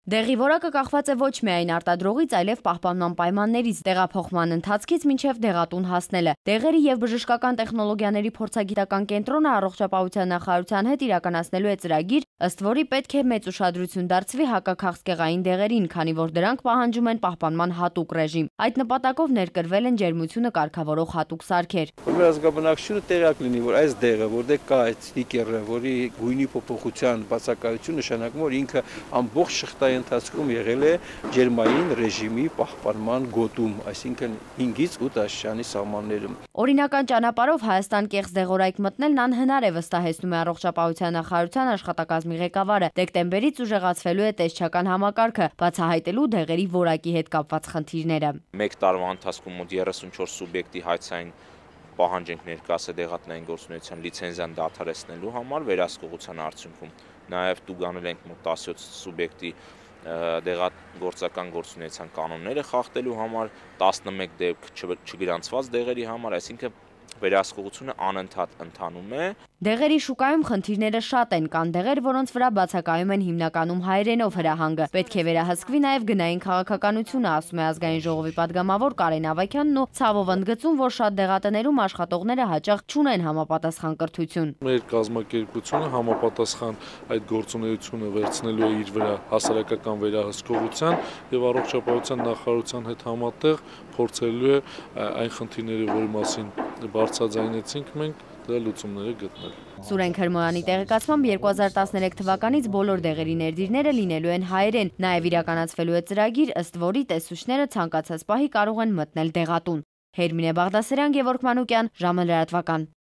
Դեղի որակը կախված է ոչ միայն արտադրողից, այլև պահպանման պայմաններից, տեղափոխման ընթացքից մինչև դեղատուն հասնելը։ Դեղերի և բժշկական տեխնոլոգիաների փորձագիտական կենտրոնը առողջապահության նախարարության հետ իրականացնելու է ծրագիր, ըստ որի պետք է մեծ ուշադրություն դարձվի հակաքաղցկեղային դեղերին, քանի որ դրանք պահանջում են պահպանման հատուկ ռեժիմ։ Այդ նպատակով ներկրվել են ջերմությունը կարգավորող հատուկ սարքեր։ Մեր ազգաբնակչությունը տեղյակ լինի, որ այս դեղը, որտեղ կա այդ ստիկերը, որի գույնի փոփոխության բացակայություն նշանակում, որ ինքը ամբողջ շղթայի ընթացքում եղել է ջերմային ռեժիմի պահպանման գոտում, այսինքն 5-ից 8 աստիճանի սահմաններում։ Օրինական ճանապարհով Հայաստան կեղծ դեղորայք մտնելն անհնար է, վստահեցնում է առողջապահության նախարարության աշխատակազմի ղեկավարը։ Դեկտեմբերից ուժեղացվելու է տեսչական համակարգը, բացահայտելու դեղերի որակի հետ կապված խնդիրները։ Մեկ տարվա ընթացքում մոտ 34 սուբյեկտի հայցային պահանջ ենք ներկայացրել դեղատնային գործունեության լիցենզիան դադարեցնելու համար վերահսկողության արդյունքում։ Նաև տուգանել ենք մոտ 17 սուբյեկտի դեղագործական գործունեության կանոնները խախտելու համար, 11 դեպք չգրանցված դեղերի համար, այսինքն վերահսկողությունը անընդհատ ընթանում է։ Դեղերի շուկայում խնդիրները շատ են, կան դեղեր, որոնց վրա բացակայում են հիմնականում հայերենով հրահանգը։ Պետք է վերահսկվի նաև գնային քաղաքականությունը, ասում է Ազգային ժողովի պատգամավոր Կարեն Ավագյանն ու ցավով ընդգծում, որ շատ դեղատներում աշխատողները հաճախ չունեն համապատասխան կրթություն։ Մեր կազմակերպությունը համապատասխան այդ գործունեությունը վերցնելու է իր վրա հասարակական վերահսկողության եւ առողջապահության նախարարության հետ համատեղ փորձելու է այն խնդիրները, որի մասին բարձրաձայնեցինք մենք, դրա լուծումները գտնել։ Սուրեն Քրմոյանի տեղեկացմամբ 2013 թվականից բոլոր դեղերի ներդիրները լինելու են հայերեն, նաև իրականացվելու է ծրագիր, ըստ որի տեսուչները ցանկացած պահի կարող են մտնել դեղատուն։ Հերմինե Բաղդասարյան, Գևորգ Մանուկյան, ժամը լրատվական։